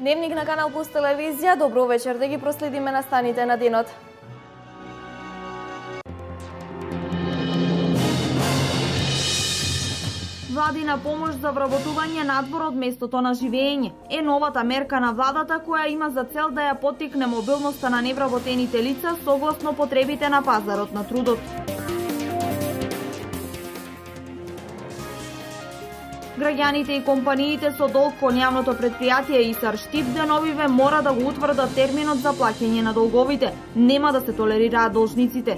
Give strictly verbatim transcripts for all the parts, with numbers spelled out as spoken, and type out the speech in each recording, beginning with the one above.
Дневник на Канал Плюс телевизија, добро вечер, да ги проследиме настаните на денот. Владина помош за вработување надвор од местото на живење е новата мерка на владата која има за цел да ја поттикне мобилноста на невработените лица согласно потребите на пазарот на трудот. Граѓаните и компаниите со долг кон јавното предпријатие ИСАР Штип деновиве мора да го утврдат терминот за плаќање на долговите. Нема да се толерираат должниците.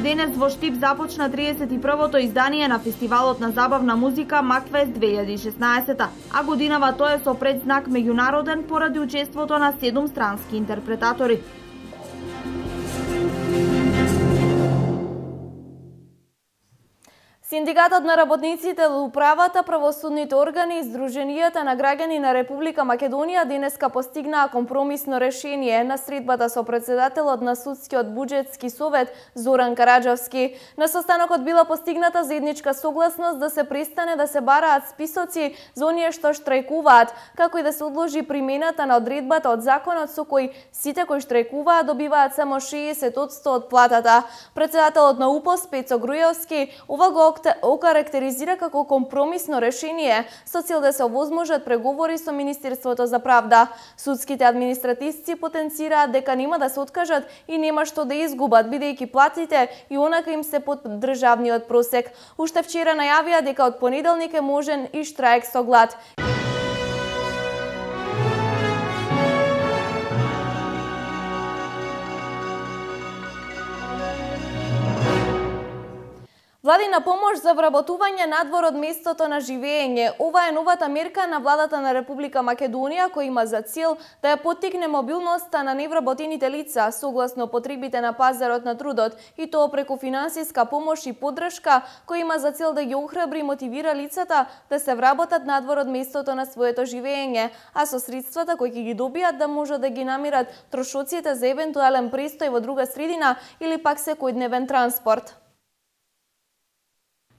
Денес во Штип започна триесет и првото издание на фестивалот на забавна музика Макфест две илјади и шеснаесета, а годинава тоа е со предзнак меѓународен поради учеството на седум странски интерпретатори. Синдикатот на работниците, управата, правосудните органи и Сдруженијата на граѓани на Република Македонија денеска постигнаа компромисно решение на средбата со председателот на Судскиот буџетски совет Зоран Караџовски. На состанокот била постигната заедничка согласност да се престане да се бараат списоци за оние што штрајкуваат, како и да се одложи примената на одредбата од законот со кој сите кои штрајкуваат добиваат само шеесет одсто од платата. Председателот на УПОС Пецо Грујовски ова го окарактеризира како компромисно решение со цел да се овозможат преговори со Министерството за правда. Судските административци потенцираат дека нема да се откажат и нема што да изгубат, бидејќи платите и онака им се под државниот просек. Уште вчера најавија дека од понеделник е можен и штрајк со глад. Владина помош за вработување надвор од местото на живење. Ова е новата мерка на владата на Република Македонија која има за цел да ја поттикне мобилноста на невработените лица согласно потребите на пазарот на трудот и тоа преку финансиска помош и поддршка која има за цел да ги охрабри и мотивира лицата да се вработат надвор од местото на своето живење, а со средствата кои ќе ги добијат да можат да ги намират трошоците за евентуален престој во друга средина или пак секојдневен транспорт.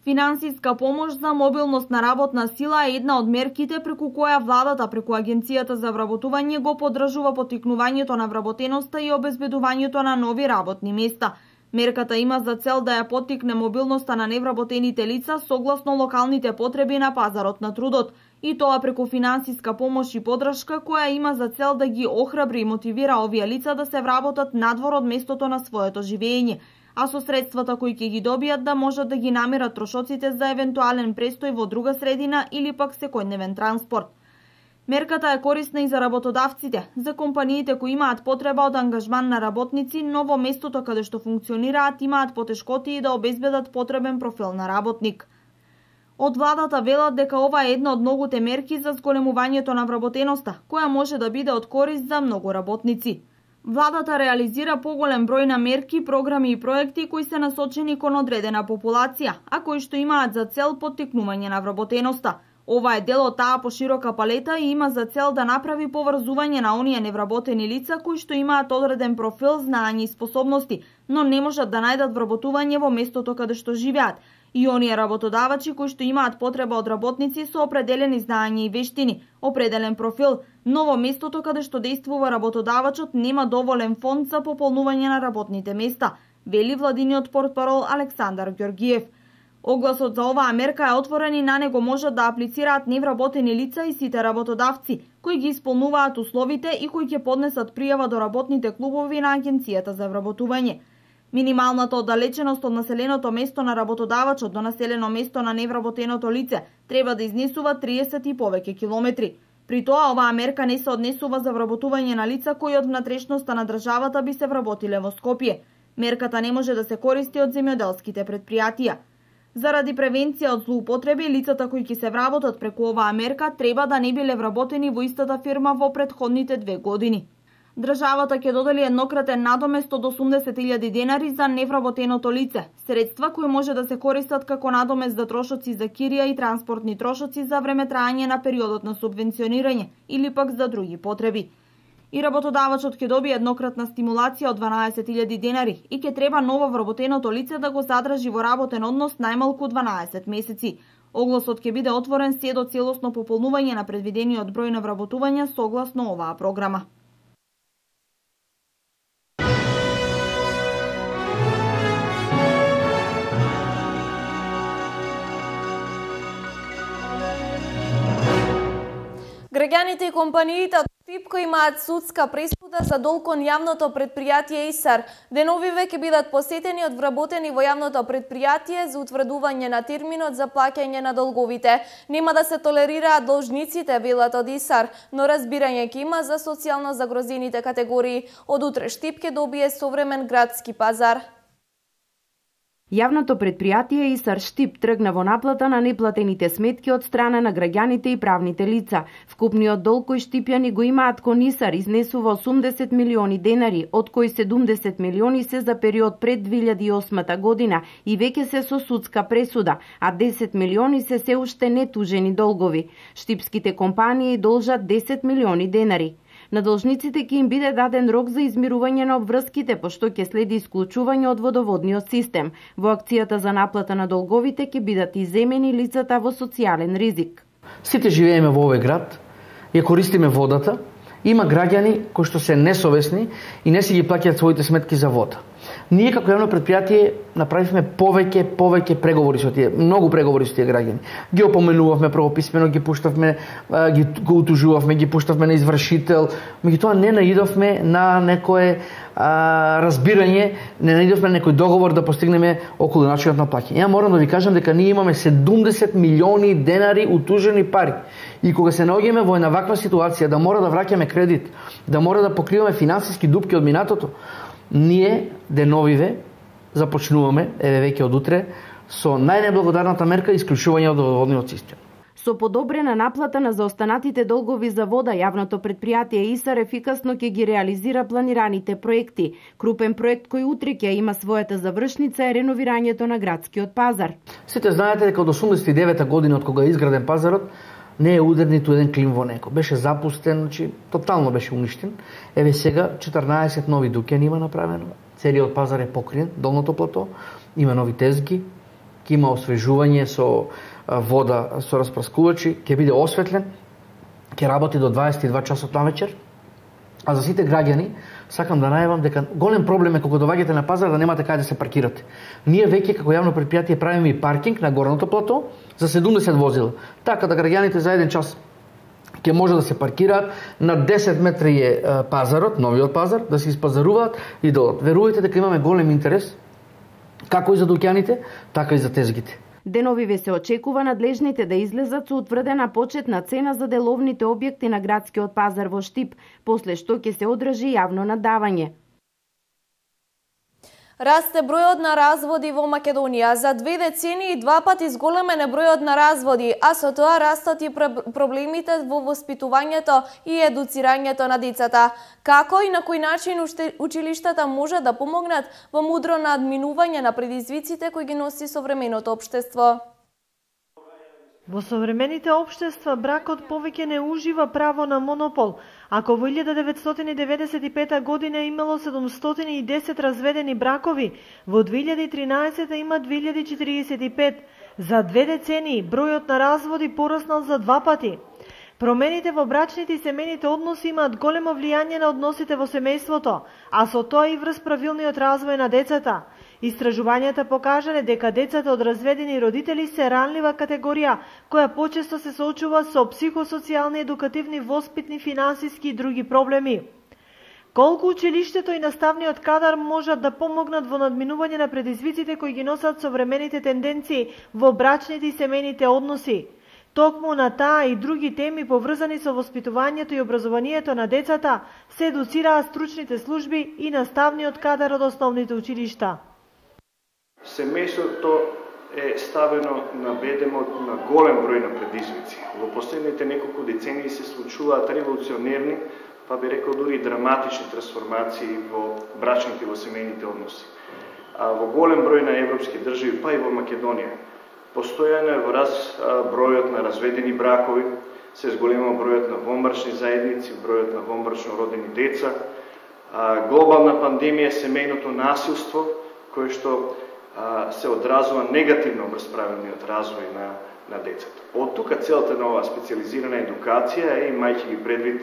Финансиска помош за мобилност на работна сила е една од мерките преку која владата преку Агенцијата за вработување го поддржува поттикнувањето на вработеноста и обезбедувањето на нови работни места. Мерката има за цел да ја поттикне мобилноста на невработените лица согласно локалните потреби на пазарот на трудот, и тоа преку финансиска помош и поддршка која има за цел да ги охрабри и мотивира овие лица да се вработат надвор од местото на своето живење, а со средствата кои ќе ги добијат да можат да ги намерат трошоците за евентуален престој во друга средина или пак секојдневен транспорт. Мерката е корисна и за работодавците, за компаниите кои имаат потреба од ангажман на работници, но во местото каде што функционираат имаат потешкоти да обезбедат потребен профил на работник. Од владата велат дека ова е една од многуте мерки за зголемувањето на вработеноста, која може да биде од корист за многу работници. Владата реализира поголем број на мерки, програми и проекти кои се насочени кон одредена популација, а кои што имаат за цел поттикнување на вработеноста. Ова е дел од таа поширока палета и има за цел да направи поврзување на оние невработени лица кои што имаат одреден профил, знаење и способности, но не можат да најдат вработување во местото каде што живеат, и оние работодавачи кои што имаат потреба од работници со определени знаења и вештини, определен профил, но во местото каде што действува работодавачот нема доволен фонд за пополнување на работните места, вели владиниот портпарол Александар Ѓоргиев. Огласот за оваа мерка е отворен и на него можат да аплицираат невработени лица и сите работодавци, кои ги исполнуваат условите и кои ќе поднесат пријава до работните клубови на Агенцијата за вработување. Минималната оддалеченост од населеното место на работодавачот до населено место на невработеното лице треба да изнесува триесет и повеќе километри. При тоа, оваа мерка не се однесува за вработување на лица кои од внатрешноста на државата би се вработиле во Скопје. Мерката не може да се користи од земјоделските предпријатија. Заради превенција од злоупотреби, лицата кои ќе се вработат преку оваа мерка треба да не биле вработени во истата фирма во претходните две години. Државата ќе додели еднократен надомест од осумдесет илјади денари за невработеното лице, средства кои може да се користат како надомест за трошоци за кирија и транспортни трошоци за време траење на периодот на субвенционирање или пак за други потреби. И работодавачот ќе добие еднократна стимулација од дванаесет илјади денари и ќе треба ново вработеното лице да го задржи во работен однос најмалку дванаесет месеци. Огласот ќе биде отворен се до целосно пополнување на предвидениот број на вработувања согласно оваа програма. Граѓаните и компаниите од Штип кои имаат судска пресуда за долг кон јавното предпријатие ИСАР, деновиве ќе бидат посетени од вработени во јавното предпријатие за утврдување на терминот за плаќање на долговите. Нема да се толерираат должниците, велат од ИСАР, но разбирање ќе има за социјално загрозените категории. Од утре Штип ќе добие современ градски пазар. Јавното предпријатие ИСАР Штип тргна во наплата на неплатените сметки од страна на граѓаните и правните лица. Вкупниот долг кој штипјани го имаат кон ИСАР изнесува осумдесет милиони денари, од кои седумдесет милиони се за период пред две илјади и осма година и веќе се со судска пресуда, а десет милиони се се уште нетужени долгови. Штипските компании должат десет милиони денари. На должниците ќе им биде даден рок за измирување на обврските, пошто ќе следи исклучување од водоводниот систем. Во акцијата за наплата на долговите ќе бидат иземени лицата во социјален ризик. Сите живееме во овој град, ја користиме водата, има граѓани кои што се несовесни и не си ги плаќаат своите сметки за вода. Ние како јавно предпријатие направивме повеќе, повеќе преговори со тие, многу преговори со тие граѓани. Ги опоменувавме прво писмено, ги пуштавме, ги го утужувавме, ги пуштавме на извршител, меѓутоа не наидовме на некое а, разбирање, не наидовме на некој договор да постигнеме околу начинот на плаќање. Ја морам да ви кажам дека ние имаме седумдесет милиони денари утужени пари. И кога се наоѓаме во една ваква ситуација да мора да враќаме кредит, да мора да покриваме финансиски дупки од минатото, ние деновиве започнуваме, еве веќе од утре, со најнеблагодарната мерка исклучување од водоводниот систем. Со подобрена наплата на заостанатите долгови за вода, јавното предпријатие ИСАР ефикасно ќе ги реализира планираните проекти. Крупен проект кој утре ќе има својата завршница е реновирањето на градскиот пазар. Сите знаете дека од осумдесет и девета година од кога е изграден пазарот, не е удар ниту еден клим во него. Беше запустен, значи тотално беше уништен. Еве сега четрнаесет нови дуќани има направено. Целиот пазар е покриен, долното плато, има нови тезги, ќе има освежување со вода, со распраскувачи, ќе биде осветлен, ќе работи до дваесет и два часот навечер. А за сите граѓани сакам да најавам дека голем проблем е кога доаѓате на пазар да немате каде да се паркирате. Ние веќе како јавно предпријатие правиме и паркинг на горното плато за седумдесет возила. Така да граѓаните за еден час ќе може да се паркираат, на десет метри е пазарот, новиот пазар, да се испазаруваат и да одат. Верувајте дека имаме голем интерес како и за дуќаните, така и за тезгите. Деновиве се очекува надлежните да излезат со утврдена почетна цена за деловните објекти на градскиот пазар во Штип, после што ќе се одржи јавно надавање. Расте бројот на разводи во Македонија. За две децени и два пати зголемен е бројот на разводи, а со тоа растат и проблемите во воспитувањето и едуцирањето на децата. Како и на кој начин училиштата може да помогнат во мудро надминување на предизвиците кои ги носи современото општество? Во современите општества бракот повеќе не ужива право на монопол. Ако во илјада деветстотини деветдесет и пета година имало седумстотини и десет разведени бракови, во две илјади и тринаесета има две илјади четиридесет и пет. За две децении бројот на разводи пораснал за два пати. Промените во брачните и семејните односи имаат големо влијание на односите во семејството, а со тоа и врз правилниот развој на децата. Истражувањата покажале дека децата од разведени родители се ранлива категорија, која почесто се соочува со психосоцијални, едукативни, воспитни, финансиски и други проблеми. Колку училиштето и наставниот кадар можат да помогнат во надминување на предизвиците кои ги носат современите тенденции во брачните и семејните односи? Токму на таа и други теми поврзани со воспитувањето и образованието на децата се едуцираат стручните служби и наставниот кадар од основните училишта. Семејството е ставено на бедемот на голем број на предизвици. Во последните неколку децении се случуваат револуционерни, па би рекол дури драматични трансформации во брачните и во семејните односи. А во голем број на европски држави, па и во Македонија, постојано е во раз бројот на разведени бракови, се зголема бројот на вонбрачни заедници, бројот на вонбрачно родени деца, а, глобална пандемија, семејното насилство, кое што а, се одразува негативно врз правилниот развој на, на децата. Од тука целата на оваа специализирана едукација е, имајќи ги предвид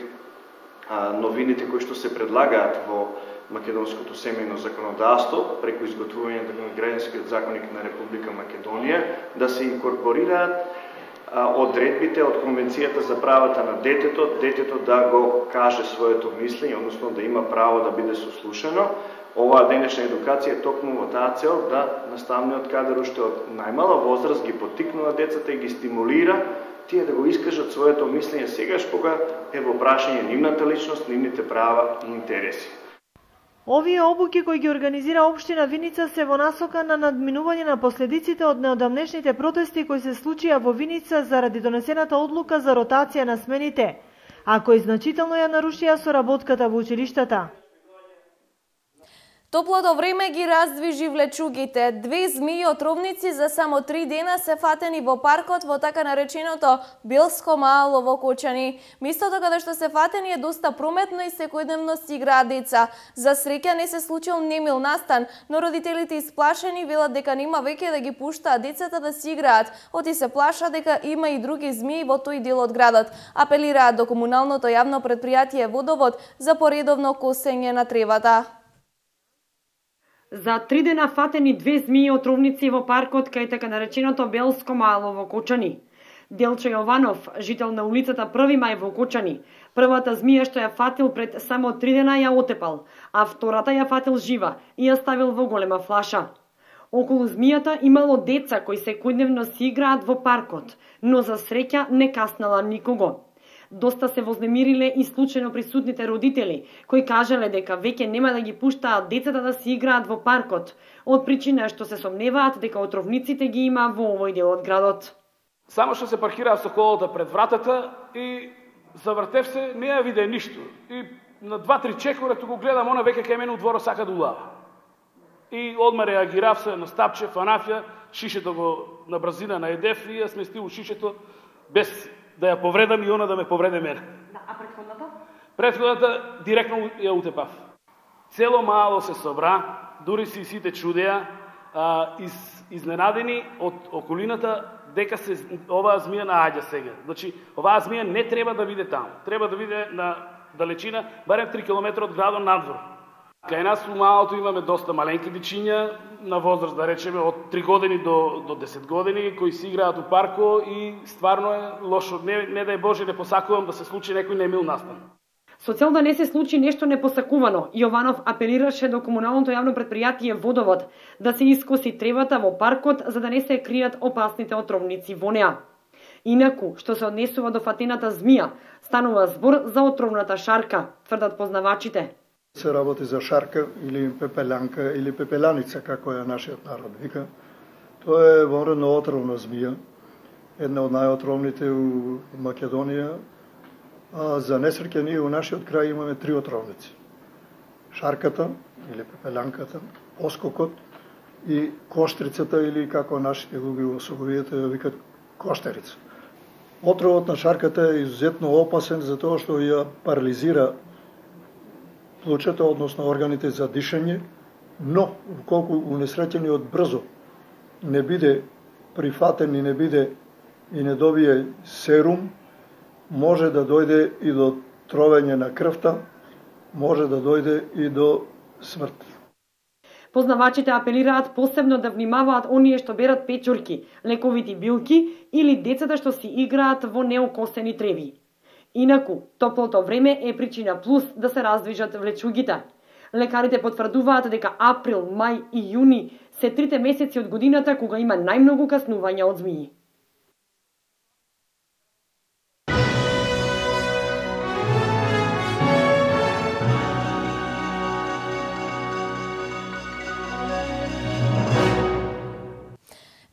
а, новините кои што се предлагаат во македонското семејно законодавство преку изготвувањето на граѓанскиот законник на Република Македонија, да се инкорпорираат а, одредбите од Конвенцијата за правата на детето, детето да го каже своето мислење, односно да има право да биде сослушано. Оваа денешна едукација е токму во таа цел да наставниот кадар уште од најмала возраст ги поттикнува децата и ги стимулира тие да го искажат своето мислење сегаш кога е во прашање нивната личност, нивните права и интереси. Овие обуки кои ги организира општина Виница се во насока на надминување на последиците од неодамнешните протести кои се случија во Виница заради донесената одлука за ротација на смените, а кои значително ја нарушија соработката во училиштата. Топлото време ги раздвижи влечугите. Две змии отровници за само три дена се фатени во паркот во така нареченото Белско мало во Кочани. Местото каде што се фатени е доста прометно и секојдневно си играат деца. За среќа не се случил немил настан, но родителите исплашени велат дека нема веќе да ги пуштаат децата да си играат, оти се плаша дека има и други змии во тој дел од градот. Апелираат до комуналното јавно претпријатие Водовод за поредовно косење на тревата. За три дена фатени две змии отровници во паркот кај така нареченото Белско мало во Кочани. Делчо Јованов, жител на улицата Први мај во Кочани, првата змија што ја фатил пред само три дена ја отепал, а втората ја фатил жива и ја ставил во голема флаша. Околу змијата имало деца кои секојдневно си играат во паркот, но за среќа не каснала никого. Доста се вознемириле и случајно присутните родители, кои кажале дека веќе нема да ги пуштаат децата да си играат во паркот, од причина што се сомневаат дека отровниците ги има во овој дел од градот. Само што се паркираа со колата пред вратата и завртев се, не ја виде ништо. И на два-три чекора туку гледам, она веќе кај мене у дворот сака да улава. И одма реагирав се, настапче, фанафја, шишето го на бразина на едев и ја сместил у шишето без да ја повредам и она да ме повреде мене. Да, а претходната? Претходната директно ја утепав. Цело мало се собра, дури си сите чудеа, а, из, изненадени од околината дека се оваа змија нааѓа сега. Значи, оваа змија не треба да биде таму. Треба да биде на далечина, барем три километри од градот надвор. Кај нас у малото имаме доста маленки дечиња, на возраст, да речеме, од три години до, до десет години, кои си играат у парко и стварно е лошо. Не, не дај Боже, не посакувам да се случи некој немил настан. Со цел да не се случи нешто непосакувано, Јованов апелираше до комуналното јавно претпријатие Водовод да се искоси тревата во паркот за да не се кријат опасните отровници во неа. Инаку, што се однесува до фатената змија, станува збор за отровната шарка, тврдат познавачите. Се работи за шарка или пепелянка или пепеланица, како ја нашиот народ вика. Тоа е вонредно отровна змија, една од најотровните у Македонија. А за несреќа ние у нашиот крај имаме три отровници. Шарката или пепелянката, оскокот и коштрицата или како нашите луѓе во Соговијата ја викат коштерица. Отровот на шарката е изузетно опасен затоа што ја парализира плучата, односно органите за дишање, но колку унесреќениот брзо не биде прифатен и не биде и не добие серум, може да дојде и до тровење на крвта, може да дојде и до смрт. Познавачите апелираат посебно да внимаваат оние што берат печурки, лековити билки или децата што си играат во неокосени треви. Инаку, топлото време е причина плюс да се раздвижат влечугите. Лекарите потврдуваат дека април, мај и јуни се трите месеци од годината кога има најмногу каснувања од змии.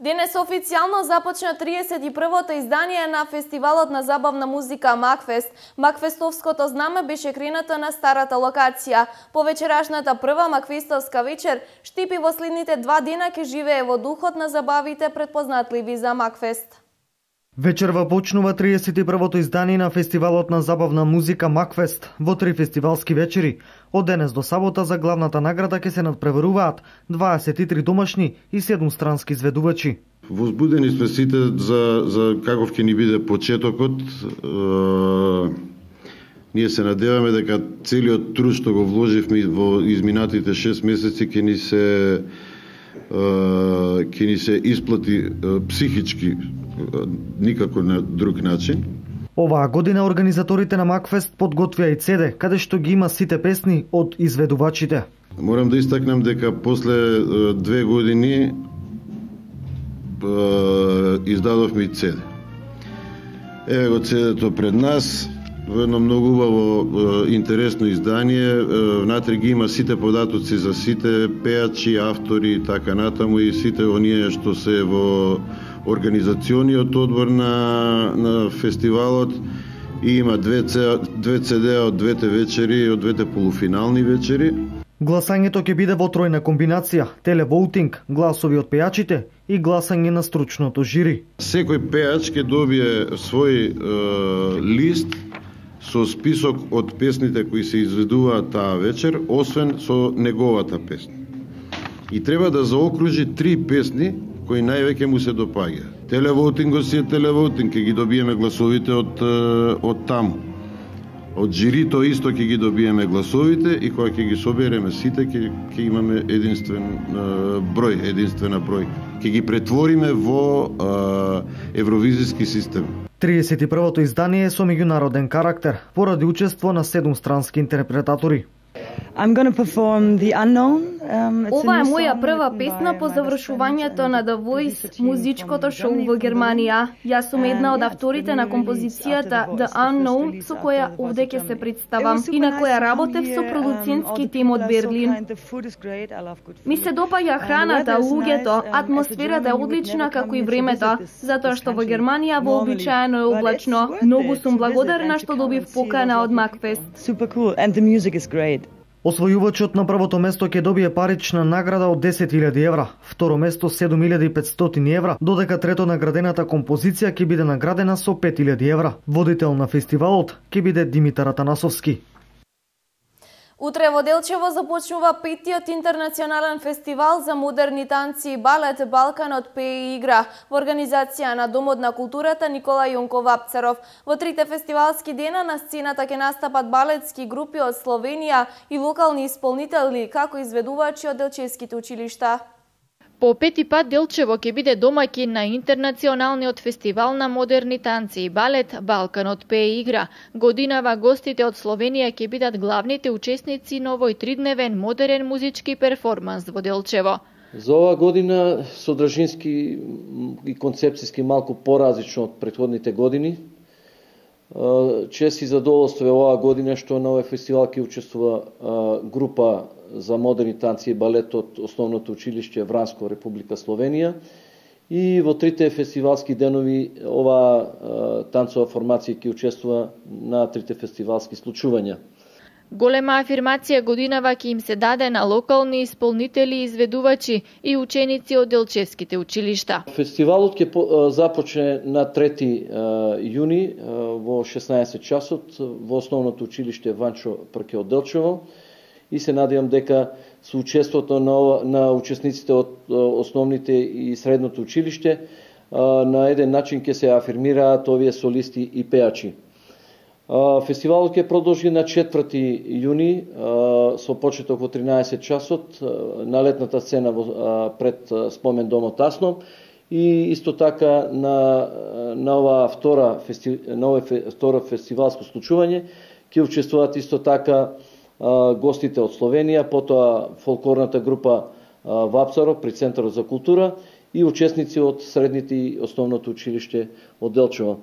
Денес официјално започна триесет и првото издание на фестивалот на забавна музика Макфест. Макфестовското знаме беше кренато на старата локација. По вечерашната прва Макфестовска вечер, Штипи во следните два дена ќе живее во духот на забавите предпознатливи за Макфест. Вечерва почнува триесет и првото издание на фестивалот на забавна музика Макфест во три фестивалски вечери. Од денес до сабота за главната награда ќе се надпреваруваат дваесет и три домашни и седум странски изведувачи. Возбудени сме сите за, за каков ќе ни биде почетокот. Е, ние се надеваме дека целиот труд што го вложивме во изминатите шест месеци ќе ни се ќе ни се исплати психички, никако на друг начин. Оваа година организаторите на Макфест подготвија и цеде, каде што ги има сите песни од изведувачите. Морам да истакнам дека после две години издадовме и цеде. Еве го цедето пред нас, во едно многу убаво интересно издание. Внатре ги има сите податоци за сите пеачи, автори и така натаму, и сите оние што се во организациониот одбор на, на фестивалот, и има две, две цедеа од двете вечери и од двете полуфинални вечери. Гласањето ќе биде во тројна комбинација: телевоутинг, гласови од пејачите и гласање на стручното жири. Секој пејач ќе добие свој е, лист со список од песните кои се изведуваат таа вечер, освен со неговата песна. И треба да заокружи три песни кои највеќе му се допаѓа. Телевоутингот си е телевоутинг, ќе ги добиеме гласовите од, од таму. Од жирито исто ќе ги добиеме гласовите, и кога ќе ги собереме сите, ќе, ќе имаме единствен е, број, единствена број. Ќе ги претвориме во е, евровизиски систем. триесет и првото издание е со меѓународен карактер, поради учество на седум странски интерпретатори. I'm gonna perform The Unknown. Um, Ова е моја прва песна по завршувањето на The Voice, музичкото шоу во Германија. Јас сум една од авторите на композицијата The Unknown, со која овде ќе се представам и на која работев со продуцентски тим од Берлин. Ми се допаѓа храната, луѓето, атмосферата е одлична, како и времето, затоа што во Германија вообичаено е облачно. Многу сум благодарна што добив покана од Макфест. Super cool and the music is great. Освојувачот на првото место ќе добие парична награда од десет илјади евра, второ место седум илјади и петстотини евра, додека трето наградената композиција ќе биде наградена со пет илјади евра. Водител на фестивалот ќе биде Димитар Атанасовски. Утре во Делчево започнува петиот интернационален фестивал за модерни танци и балет Балканот пее и игра во организација на Домот на културата Никола Јонков Апцаров. Во трите фестивалски дена на сцената ќе настапат балетски групи од Словенија и локални исполнители, како изведувачи од делчевските училишта. По пети пат Делчево ќе биде домаќин на интернационалниот фестивал на модерни танци и балет Балканот пее и игра. Годинава гостите од Словенија ќе бидат главните учесници на овој тридневен модерен музички перформанс во Делчево. За оваа година содржински и концепцијски малку поразлично од претходните години. Чест и задоволство е оваа година што на овој фестивал ќе учествува група за модерни танци и балет од основното училиште Вранско, Република Словенија. И во трите фестивалски денови оваа танцова формација ќе учествува на трите фестивалски случувања. Голема афирмација годинава ќе им се даде на локални исполнители, изведувачи и ученици од делчевските училишта. Фестивалот ќе започне на трети јуни во шеснаесет часот во основното училиште Ванчо Прке од Делчево, и се надевам дека со учеството на, на учесниците од основните и средното училиште на еден начин ќе се афирмираат овие солисти и пеачи. Фестивалот ќе продолжи на четврти јуни со почеток во тринаесет часот на летната сцена пред спомен домот Асно, и исто така на на ова втора фести, на ова втора фестивалско случување ќе учествуваат исто така гостите од Словенија, потоа фолклорната група Вапцаров при Центарот за култура и учесници од средните и основното училиште од Делчево.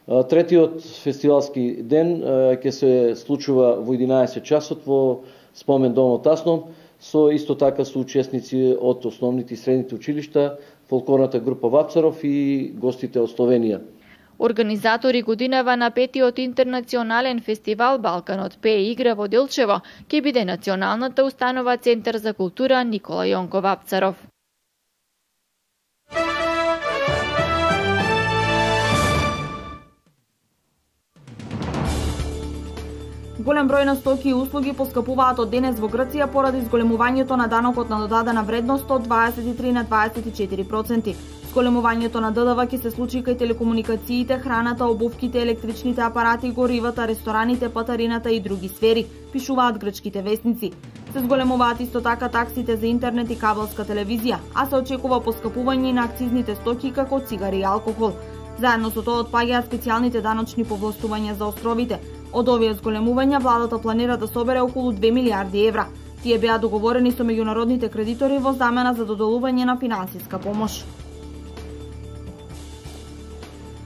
Третиот фестивалски ден ќе се случува во единаесет часот во спомен домот Асно, со исто така со учесници од основните и средните училишта, фолклорната група Вапцаров и гостите од Словенија. Организатори годинава на петиот интернационален фестивал Балканот пее и игра во Делчево ќе биде Националната установа Центар за култура Никола Јонков Апцаров. Голем број на стоки и услуги поскапуваат од денес во Грција поради зголемувањето на данокот на додадена вредност од дваесет и три на дваесет и четири проценти. Зголемувањето на ДДВ ќе се случи кај телекомуникациите, храната, обувките, електричните апарати, горивата, рестораните, патарината и други сфери, пишуваат грчките весници. Се зголемуваат исто така таксите за интернет и кабелска телевизија, а се очекува поскапување и на акцизните стоки како цигари и алкохол. Заедно со тоа отпаѓаат специјалните даночни повластувања за островите. Од овие зголемувања владата планира да собере околу две милиарди евра. Тие беа договорени со меѓународните кредитори во замена за доделување на финансиска помош.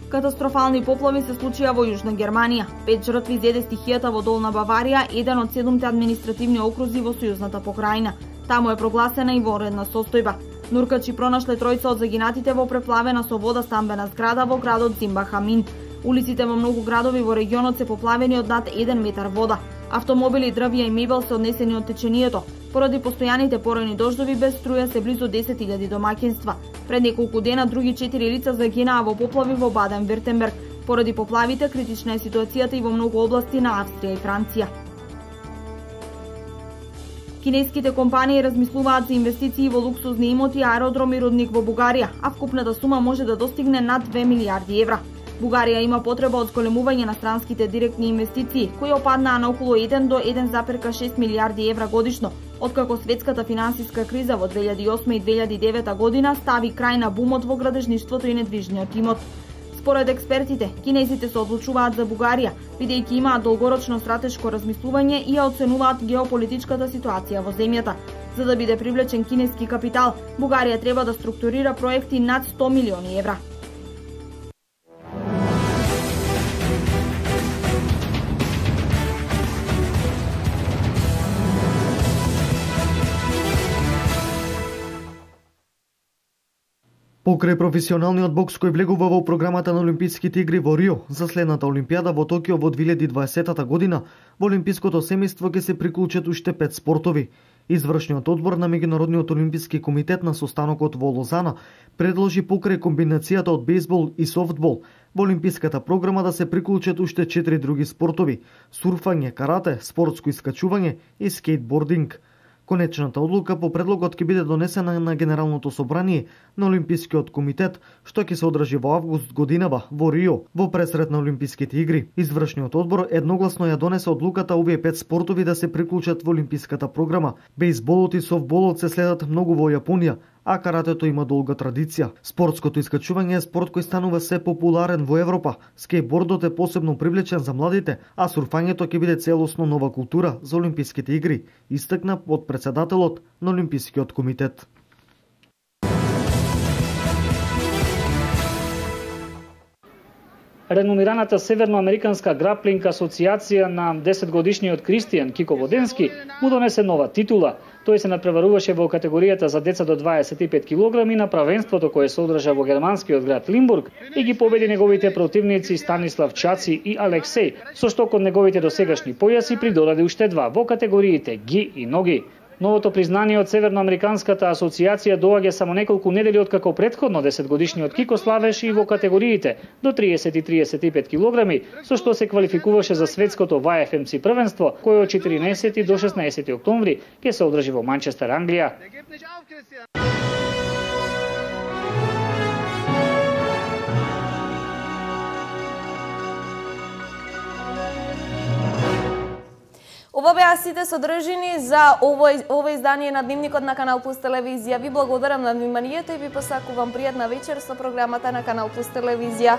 Катастрофални поплави се случија во Јужна Германија. Пет жртви зеде стихијата во Долна Баварија, еден од седумте административни окрузи во Сојузната покрајна. Таму е прогласена и вонредна состојба. Нуркачи пронашле тројца од загинатите во преплавена со вода стамбена зграда во градот Зимбахамин. Улиците во многу градови во регионот се поплавени од над еден метар вода. Автомобили, дрвја и мебел се однесени од течението. Поради постојаните поројни дождови без струја се близу десет илјади домаќинства. Пред неколку дена други четири лица загинаа во поплави во Баден-Виртенберг. Поради поплавите критична е ситуацијата и во многу области на Австрија и Франција. Кинеските компании размислуваат за инвестиции во луксузни имоти, аеродром и рудник во Бугарија, а вкупната сума може да достигне над две милиарди евра. Бугарија има потреба од зголемување на странските директни инвестиции, кои опаднаа на околу еден до еден зарез шест милиарди евра годишно, откако светската финансиска криза во две илјади и осма и две илјади и девета година стави крај на бумот во градежништвото и недвижниот имот. Според експертите, кинезите се одлучуваат за Бугарија, бидејќи имаат долгорочно стратешко размислување и ја оценуваат геополитичката ситуација во земјата. За да биде привлечен кинески капитал, Бугарија треба да структурира проекти над сто милиони евра. Покрај професионалниот бокс кој влегува во програмата на Олимписките игри во Рио за следната Олимпијада во Токио во две илјади и дваесета година, во Олимпиското семејство ќе се приклучат уште пет спортови. Извршниот одбор на Меѓународниот олимписки комитет на состанокот во Лозана предложи покрај комбинацијата од бейсбол и софтбол во олимписката програма да се приклучат уште четири други спортови: сурфање, карате, спортско искачување и скейтбординг. Конечната одлука по предлогот ќе биде донесена на Генералното собрание на Олимпискиот комитет, што ќе се одржи во август годинава во Рио, во пресрет на Олимписките игри. Извршниот одбор едногласно ја донесе одлуката овие пет спортови да се приклучат во олимписката програма. Бейсболот и софтболот се следат многу во Јапонија, а каратето има долга традиција. Спортското искачување е спорт кој станува се популарен во Европа. Скейтбордот е посебно привлечен за младите, а сурфањето ќе биде целосно нова култура за Олимписките игри, истакна под председателот на Олимпискиот комитет. Реномираната Северноамериканска граплинг асоциација на десетгодишниот Кристијан Кико Воденски му донесе нова титула. Тој се надпреваруваше во категоријата за деца до дваесет и пет килограми на правенството кое се одржа во германскиот град Лимбург и ги победи неговите противници Станислав Чаци и Алексеј, со што кон неговите досегашни појаси придодаде уште два во категориите ги и ноги. Новото признание од Северноамериканската асоциација доаѓа само неколку недели откако претходно десетгодишниот Кико славеше и во категориите до триесет и триесет и пет килограми, со што се квалификуваше за светското В Ф М С првенство, кое од четиринаесети до шеснаесети октомври ќе се одржи во Манчестер, Англија. Ова беа сите содржини за овој, ова издание на Дневникот на Канал Плюс телевизија. Ви благодарам на вниманието и ви посакувам пријатна вечер со програмата на Канал Плюс телевизија.